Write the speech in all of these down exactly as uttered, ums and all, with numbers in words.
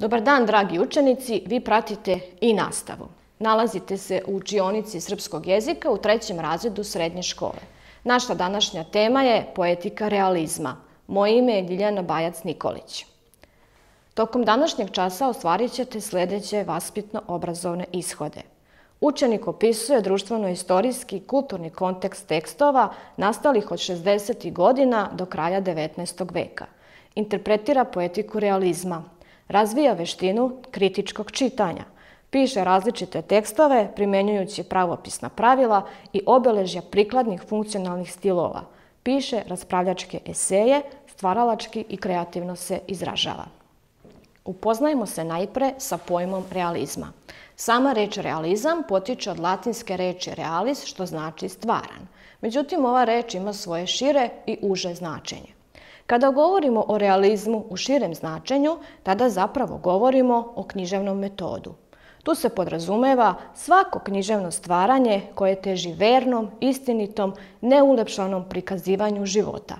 Dobar dan, dragi učenici, vi pratite i nastavu. Nalazite se u učionici srpskog jezika u trećem razredu srednje škole. Naša današnja tema je poetika realizma. Moje ime je Ljiljana Bajac-Nikolić. Tokom današnjeg časa ostvarit ćete sljedeće vaspitno-obrazovne ishode. Učenik opisuje društveno-istorijski i kulturni kontekst tekstova nastalih od šezdesetih godina do kraja devetnaestog veka. Interpretira poetiku realizma. Razvija veštinu kritičkog čitanja. Piše različite tekstove primjenjujući pravopisna pravila i obeležja prikladnih funkcionalnih stilova. Piše raspravljačke eseje, stvaralački i kreativno se izražava. Upoznajmo se najpre sa pojmom realizma. Sama reč realizam potiče od latinske reči realis, što znači stvaran. Međutim, ova reč ima svoje šire i uže značenje. Kada govorimo o realizmu u širem značenju, tada zapravo govorimo o književnom metodu. Tu se podrazumeva svako književno stvaranje koje teži vernom, istinitom, neulepšanom prikazivanju života.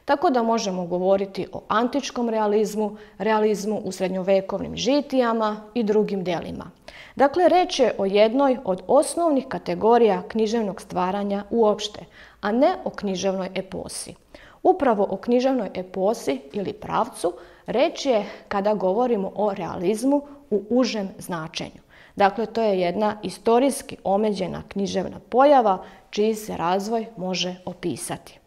Tako da možemo govoriti o antičkom realizmu, realizmu u srednjovekovnim žitijama i drugim delima. Dakle, reč je o jednoj od osnovnih kategorija književnog stvaranja uopšte, a ne o književnoj eposi. Upravo o književnoj eposi ili pravcu reč je kada govorimo o realizmu u užem značenju. Dakle, to je jedna istorijski omeđena književna pojava čiji se razvoj može opisati.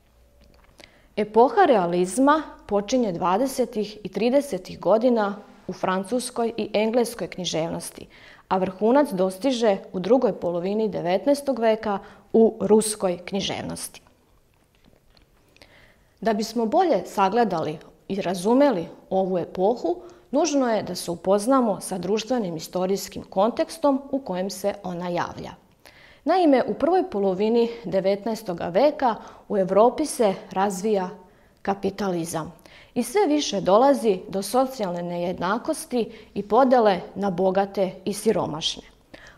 Epoha realizma počinje dvadesetih i tridesetih godina u francuskoj i engleskoj književnosti, a vrhunac dostiže u drugoj polovini devetnaestog veka u ruskoj književnosti. Da bismo bolje sagledali i razumeli ovu epohu, nužno je da se upoznamo sa društvenim istorijskim kontekstom u kojem se ona javlja. Naime, u prvoj polovini devetnaestog veka u Evropi se razvija kapitalizam i sve više dolazi do socijalne nejednakosti i podele na bogate i siromašne.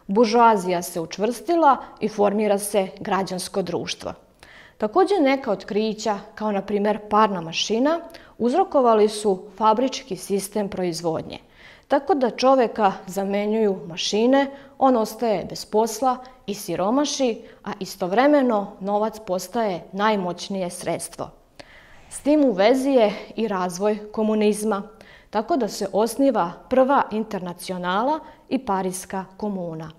Buržoazija se učvrstila i formira se građansko društvo. Također neka otkrića, kao na primjer parna mašina, uzrokovali su fabrički sistem proizvodnje. Tako da čoveka zamenjuju mašine, on ostaje bez posla i siromaši, a istovremeno novac postaje najmoćnije sredstvo. S tim u vezi je i razvoj komunizma, tako da se osniva prva internacionala i Pariska komuna.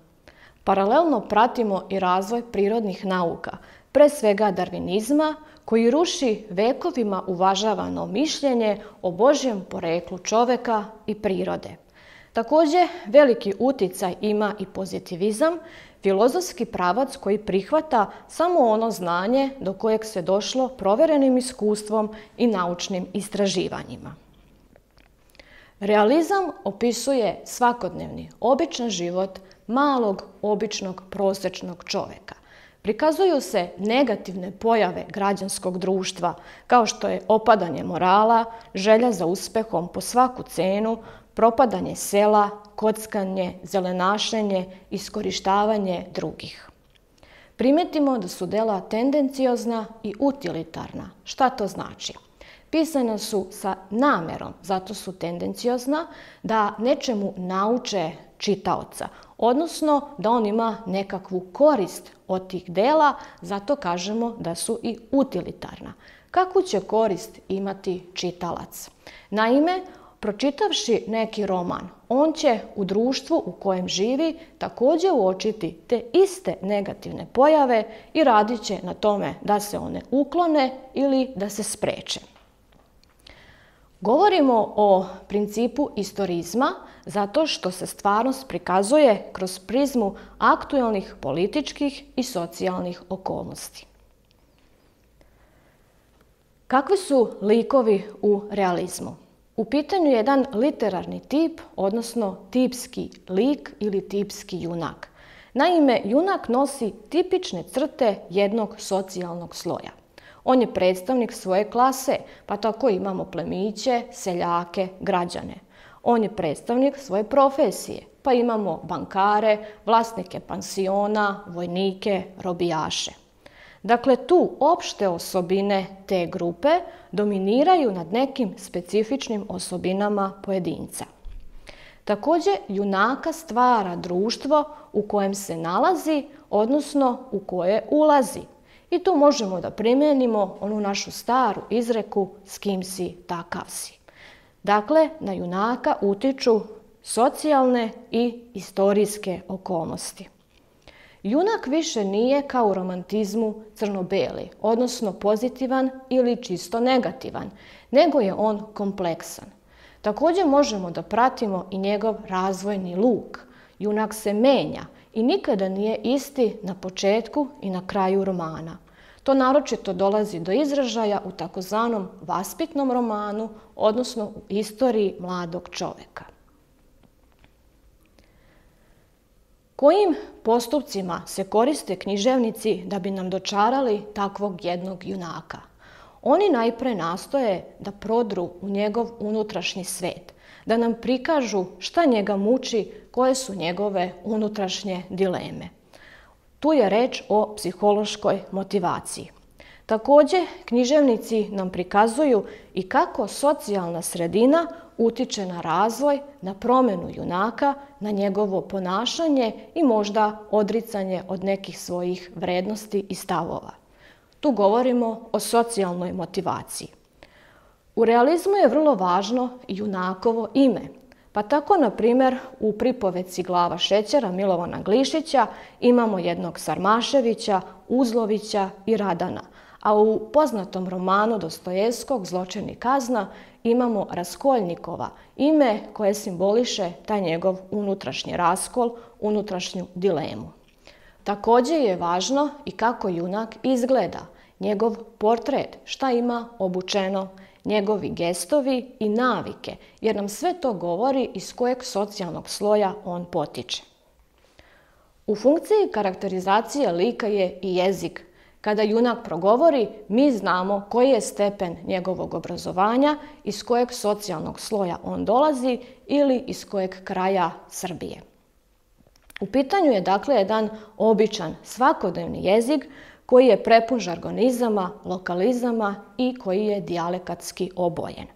Paralelno pratimo i razvoj prirodnih nauka, pre svega darvinizma, koji ruši vekovima uvažavano mišljenje o Božjem poreklu čoveka i prirode. Također, veliki uticaj ima i pozitivizam, filozofski pravac koji prihvata samo ono znanje do kojeg se došlo proverenim iskustvom i naučnim istraživanjima. Realizam opisuje svakodnevni, običan život malog, običnog, prosječnog čoveka. Prikazuju se negativne pojave građanskog društva, kao što je opadanje morala, želja za uspehom po svaku cenu, propadanje sela, kockanje, zelenašenje, iskorištavanje drugih. Primetimo da su dela tendenciozna i utilitarna. Šta to znači? Pisana su sa namerom, zato su tendenciozna, da nečemu nauče čitaoca, odnosno da on ima nekakvu korist od tih dela, zato kažemo da su i utilitarna. Kakvu će korist imati čitalac? Naime, pročitavši neki roman, on će u društvu u kojem živi također uočiti te iste negativne pojave i radit će na tome da se one uklone ili da se spreče. Govorimo o principu istorizma zato što se stvarnost prikazuje kroz prizmu aktuelnih političkih i socijalnih okolnosti. Kakvi su likovi u realizmu? U pitanju je jedan literarni tip, odnosno tipski lik ili tipski junak. Naime, junak nosi tipične crte jednog socijalnog sloja. On je predstavnik svoje klase, pa tako imamo plemiće, seljake, građane. On je predstavnik svoje profesije, pa imamo bankare, vlasnike pansiona, vojnike, robijaše. Dakle, tu opšte osobine te grupe dominiraju nad nekim specifičnim osobinama pojedinca. Također, junaka stvara društvo u kojem se nalazi, odnosno u koje ulazi. I tu možemo da primijenimo onu našu staru izreku s kim si, takav si. Dakle, na junaka utiču socijalne i istorijske okolnosti. Junak više nije kao u romantizmu crno-beli, odnosno pozitivan ili čisto negativan, nego je on kompleksan. Također možemo da pratimo i njegov razvojni luk. Junak se menja i nikada nije isti na početku i na kraju romana. To naročito dolazi do izražaja u takozvanom vaspitnom romanu, odnosno u istoriji mladog čoveka. Kojim postupcima se koriste književnici da bi nam dočarali takvog jednog junaka? Oni najpre nastoje da prodru u njegov unutrašnji svet, da nam prikažu šta njega muči, koje su njegove unutrašnje dileme. Tu je reč o psihološkoj motivaciji. Također, književnici nam prikazuju i kako socijalna sredina utiče na razvoj, na promjenu junaka, na njegovo ponašanje i možda odricanje od nekih svojih vrednosti i stavova. Tu govorimo o socijalnoj motivaciji. U realizmu je vrlo važno junakovo ime, pa tako, na primjer, u pripovetci Glava šećera Milovana Glišića imamo jednog Sarmaševića, Uzlovića i Radana, a u poznatom romanu Dostojevskog Zločin i kazna imamo Raskoljnikova, ime koje simboliše taj njegov unutrašnji raskol, unutrašnju dilemu. Također je važno i kako junak izgleda, njegov portret, šta ima obučeno, njegovi gestovi i navike, jer nam sve to govori iz kojeg socijalnog sloja on potiče. U funkciji karakterizacije lika je i jezik. Kada junak progovori, mi znamo koji je stepen njegovog obrazovanja, iz kojeg socijalnog sloja on dolazi ili iz kojeg kraja Srbije. U pitanju je dakle jedan običan svakodnevni jezik koji je prepun žargonizama, lokalizama i koji je dijalekatski obojen.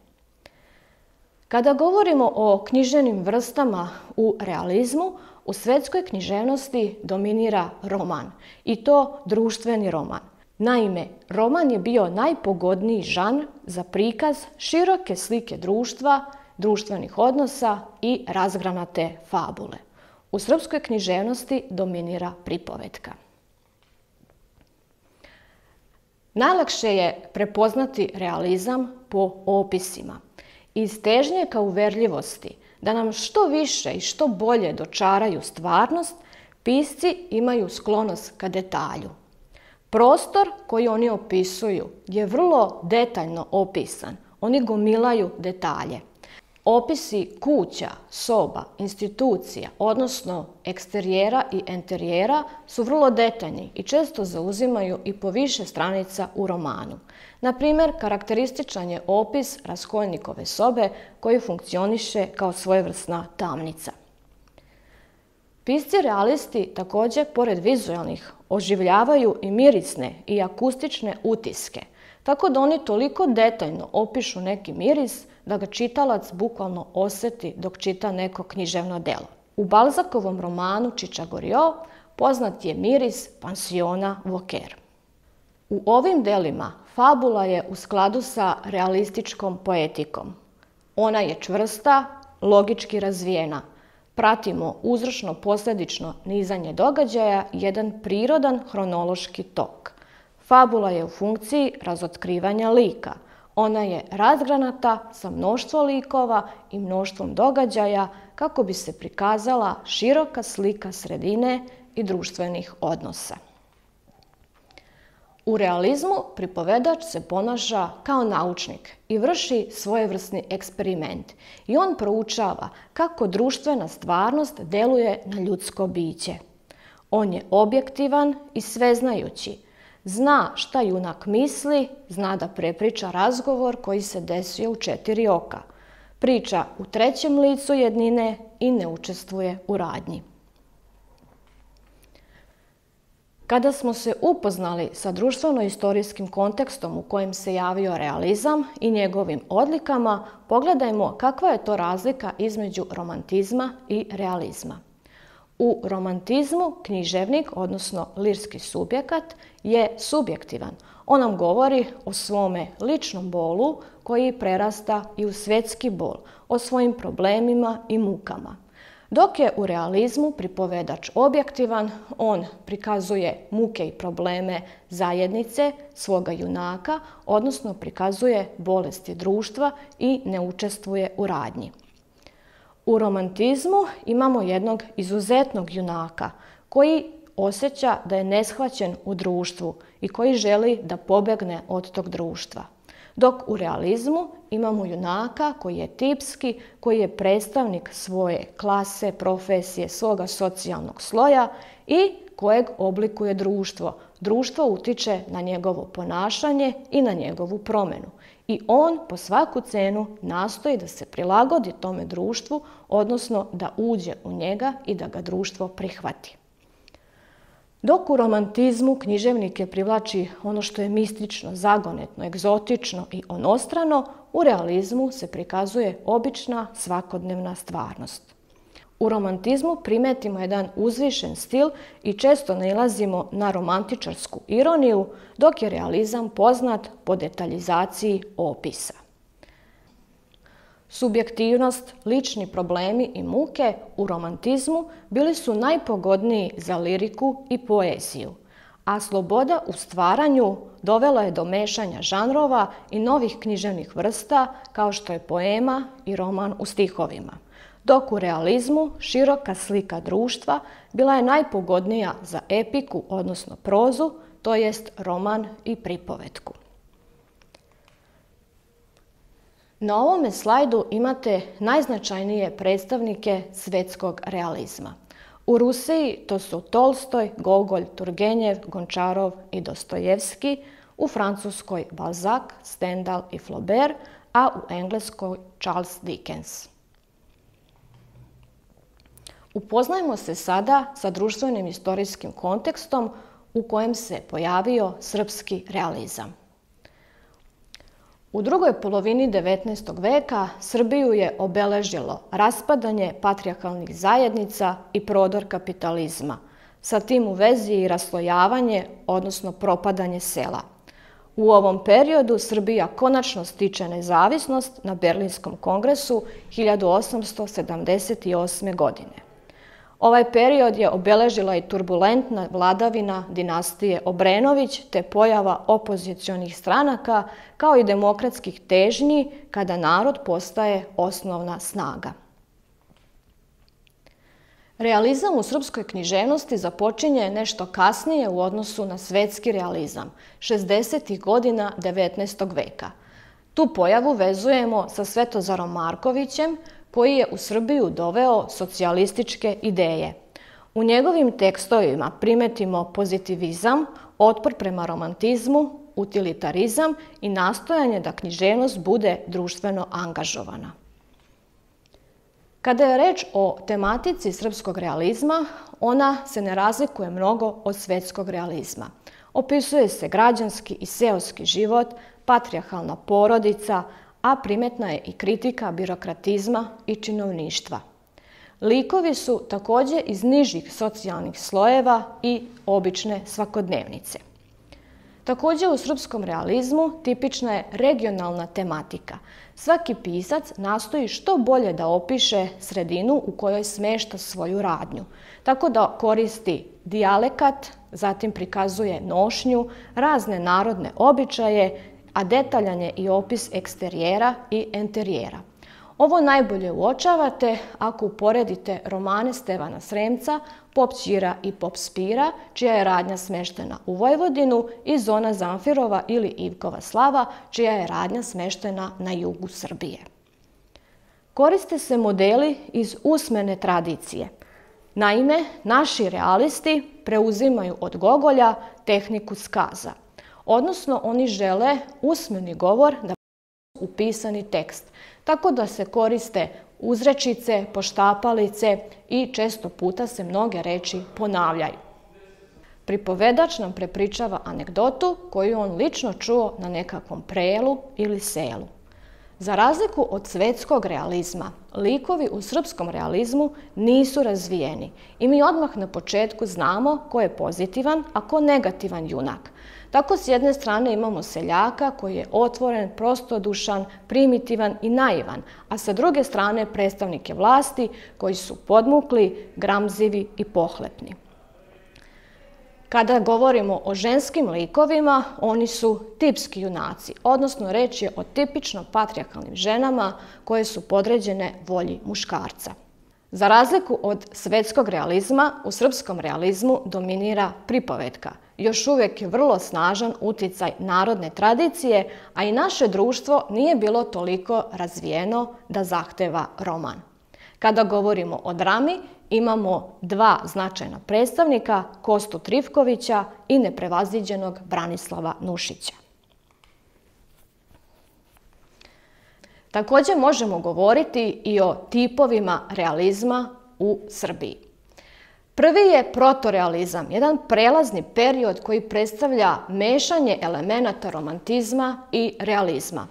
Kada govorimo o književnim vrstama u realizmu, u svetskoj književnosti dominira roman, i to društveni roman. Naime, roman je bio najpogodniji žanr za prikaz široke slike društva, društvenih odnosa i razgranate fabule. U srpskoj književnosti dominira pripovetka. Najlakše je prepoznati realizam po opisima. Iz težnje ka uverljivosti, da nam što više i što bolje dočaraju stvarnost, pisci imaju sklonost ka detalju. Prostor koji oni opisuju je vrlo detaljno opisan. Oni gomilaju detalje. Opisi kuća, soba, institucija, odnosno eksterijera i enterijera su vrlo detaljni i često zauzimaju i po više stranica u romanu. Na primjer, karakterističan je opis Raskoljnikove sobe koji funkcioniše kao svojevrsna tamnica. Pisci realisti također, pored vizualnih, oživljavaju i mirisne i akustične utiske, tako da oni toliko detaljno opišu neki miris da ga čitalac bukvalno osjeti dok čita neko književno delo. U Balzakovom romanu Čičagorio poznat je miris pansiona Voker. U ovim delima fabula je u skladu sa realističkom poetikom. Ona je čvrsta, logički razvijena. Pratimo uzročno-posljedično nizanje događaja i jedan prirodan hronološki tok. Fabula je u funkciji razotkrivanja lika. Ona je razgranata sa mnoštvo likova i mnoštvom događaja kako bi se prikazala široka slika sredine i društvenih odnosa. U realizmu pripovedač se ponaša kao naučnik i vrši svojevrsni eksperiment i on proučava kako društvena stvarnost deluje na ljudsko biće. On je objektivan i sveznajući. Zna šta junak misli, zna da prepriča razgovor koji se desio u četiri oka. Priča u trećem licu jednine i ne učestvuje u radnji. Kada smo se upoznali sa društveno-istorijskim kontekstom u kojem se javio realizam i njegovim odlikama, pogledajmo kakva je to razlika između romantizma i realizma. U romantizmu književnik, odnosno lirski subjekat, je subjektivan. On nam govori o svome ličnom bolu koji prerasta i u svjetski bol, o svojim problemima i mukama. Dok je u realizmu pripovedač objektivan, on prikazuje muke i probleme zajednice, svoga junaka, odnosno prikazuje bolesti društva i ne učestvuje u radnji. U romantizmu imamo jednog izuzetnog junaka koji osjeća da je neshvaćen u društvu i koji želi da pobegne od tog društva. Dok u realizmu imamo junaka koji je tipski, koji je predstavnik svoje klase, profesije, svoga socijalnog sloja i kojeg oblikuje društvo. Društvo utiče na njegovo ponašanje i na njegovu promjenu. I on po svaku cenu nastoji da se prilagodi tome društvu, odnosno da uđe u njega i da ga društvo prihvati. Dok u romantizmu književnike privlači ono što je mistično, zagonetno, egzotično i onostrano, u realizmu se prikazuje obična svakodnevna stvarnost. U romantizmu primetimo jedan uzvišen stil i često nailazimo na romantičarsku ironiju, dok je realizam poznat po detaljizaciji opisa. Subjektivnost, lični problemi i muke u romantizmu bili su najpogodniji za liriku i poeziju, a sloboda u stvaranju dovela je do mešanja žanrova i novih književnih vrsta kao što je poema i roman u stihovima. Dok u realizmu široka slika društva bila je najpogodnija za epiku, odnosno prozu, to jest roman i pripovetku. Na ovome slajdu imate najznačajnije predstavnike svjetskog realizma. U Rusiji to su Tolstoj, Gogolj, Turgenjev, Gončarov i Dostojevski, u Francuskoj Balzac, Stendhal i Flaubert, a u Engleskoj Charles Dickens. Upoznajmo se sada sa društvenim istorijskim kontekstom u kojem se pojavio srpski realizam. U drugoj polovini devetnaestog veka Srbiju je obeležilo raspadanje patrijarhalnih zajednica i prodor kapitalizma. Sa tim u vezi i raslojavanje, odnosno propadanje sela. U ovom periodu Srbija konačno stiče nezavisnost na Berlinskom kongresu hiljadu osamsto sedamdeset osme. godine. Ovaj period je obeležila i turbulentna vladavina dinastije Obrenović te pojava opozicionih stranaka kao i demokratskih težnji kada narod postaje osnovna snaga. Realizam u srpskoj književnosti započinje nešto kasnije u odnosu na svetski realizam, šezdesetih godina devetnaestog veka. Tu pojavu vezujemo sa Svetozarom Markovićem, koji je u Srbiju doveo socijalističke ideje. U njegovim tekstovima primetimo pozitivizam, otpor prema romantizmu, utilitarizam i nastojanje da književnost bude društveno angažovana. Kada je reč o tematici srpskog realizma, ona se ne razlikuje mnogo od svetskog realizma. Opisuje se građanski i seoski život, patrijarhalna porodica, a primetna je i kritika birokratizma i činovništva. Likovi su također iz nižih socijalnih slojeva i obične svakodnevnice. Također u srpskom realizmu tipična je regionalna tematika. Svaki pisac nastoji što bolje da opiše sredinu u kojoj smešta svoju radnju, tako da koristi dijalekat, zatim prikazuje nošnju, razne narodne običaje, a detaljan je i opis eksterijera i enterijera. Ovo najbolje uočavate ako uporedite romane Stevana Sremca, Pop Ćira i Pop Spira, čija je radnja smeštena u Vojvodinu, i Zona Zamfirova ili Ivkova slava, čija je radnja smeštena na jugu Srbije. Koriste se modeli iz usmene tradicije. Naime, naši realisti preuzimaju od Gogolja tehniku skaza, odnosno oni žele usmeni govor da u pisani tekst, tako da se koriste uzrečice, poštapalice i često puta se mnoge reči ponavljaju. pripovedač nam prepričava anegdotu koju on lično čuo na nekakvom prelu ili selu. Za razliku od svetskog realizma, likovi u srpskom realizmu nisu razvijeni i mi odmah na početku znamo ko je pozitivan, a ko negativan junak. Tako s jedne strane imamo seljaka koji je otvoren, prostodušan, primitivan i naivan, a sa druge strane predstavnike vlasti koji su podmukli, gramzivi i pohlepni. Kada govorimo o ženskim likovima, oni su tipski junaci, odnosno reč je o tipično patrijarhalnim ženama koje su podređene volji muškarca. Za razliku od svetskog realizma, u srpskom realizmu dominira pripovetka. Još uvijek je vrlo snažan uticaj narodne tradicije, a i naše društvo nije bilo toliko razvijeno da zahteva roman. Kada govorimo o drami, imamo dva značajna predstavnika, Kostu Trifkovića i neprevaziđenog Branislava Nušića. Također možemo govoriti i o tipovima realizma u Srbiji. Prvi je protorealizam, jedan prelazni period koji predstavlja mešanje elemenata romantizma i realizma.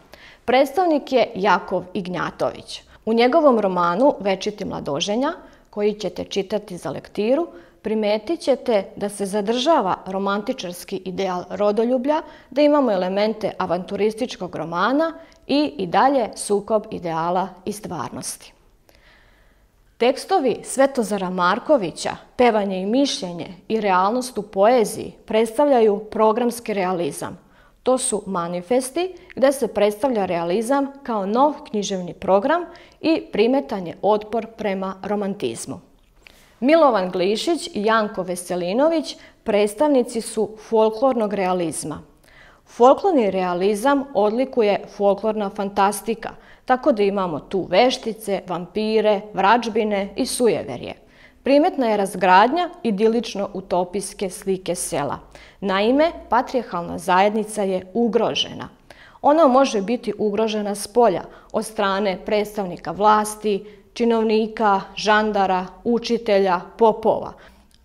Predstavnik je Jakov Ignjatović. U njegovom romanu Večiti mladoženja, koji ćete čitati za lektiru, primetit ćete da se zadržava romantičarski ideal rodoljublja, da imamo elemente avanturističkog romana i i dalje sukob ideala i stvarnosti. Tekstovi Svetozara Markovića, Pevanje i mišljenje i realnost u poeziji predstavljaju programski realizam. To su manifesti gdje se predstavlja realizam kao nov književni program i primetan je otpor prema romantizmu. Milovan Glišić i Janko Veselinović predstavnici su folklornog realizma. Folklorni realizam odlikuje folklorna fantastika, tako da imamo tu veštice, vampire, vračbine i sujeverje. Primetna je razgradnja idilično-utopijske slike sela. Naime, patrijarhalna zajednica je ugrožena. Ona može biti ugrožena spolja od strane predstavnika vlasti, činovnika, žandara, učitelja, popova.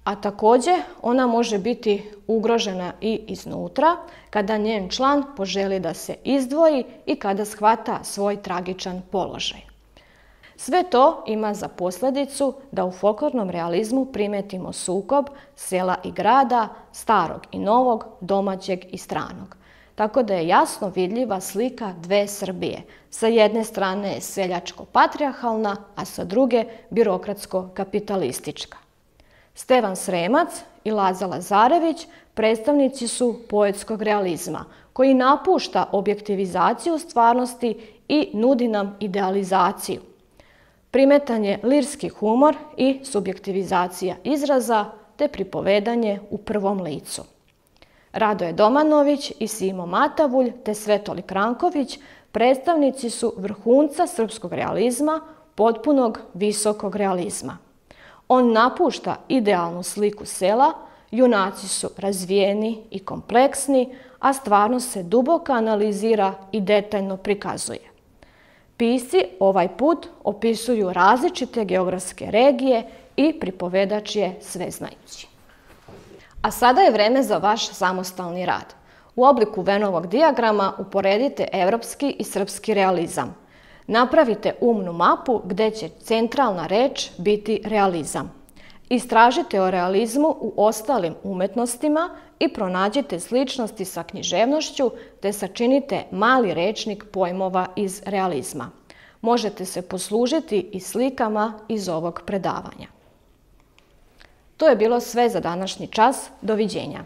A također ona može biti ugrožena i iznutra kada njen član poželi da se izdvoji i kada shvata svoj tragičan položaj. Sve to ima za posljedicu da u folklornom realizmu primetimo sukob sela i grada, starog i novog, domaćeg i stranog. Tako da je jasno vidljiva slika dve Srbije. Sa jedne strane je seljačko-patrijarhalna, a sa druge birokratsko-kapitalistička. Stevan Sremac i Laza Lazarević predstavnici su poetskog realizma, koji napušta objektivizaciju stvarnosti i nudi nam idealizaciju. Primetan je lirski humor i subjektivizacija izraza, te pripovedanje u prvom licu. Radoje Domanović i Simo Matavulj te Svetolik Ranković predstavnici su vrhunca srpskog realizma, potpunog visokog realizma. On napušta idealnu sliku sela, junaci su razvijeni i kompleksni, a stvarnost se duboko analizira i detaljno prikazuje. Pisci ovaj put opisuju različite geografske regije i pripovedač je sveznajući. A sada je vreme za vaš samostalni rad. U obliku Venovog dijagrama uporedite evropski i srpski realizam. Napravite umnu mapu gdje će centralna reč biti realizam. Istražite o realizmu u ostalim umetnostima i pronađite sličnosti sa književnošću te sačinite mali rečnik pojmova iz realizma. Možete se poslužiti i slikama iz ovog predavanja. To je bilo sve za današnji čas. Doviđenja.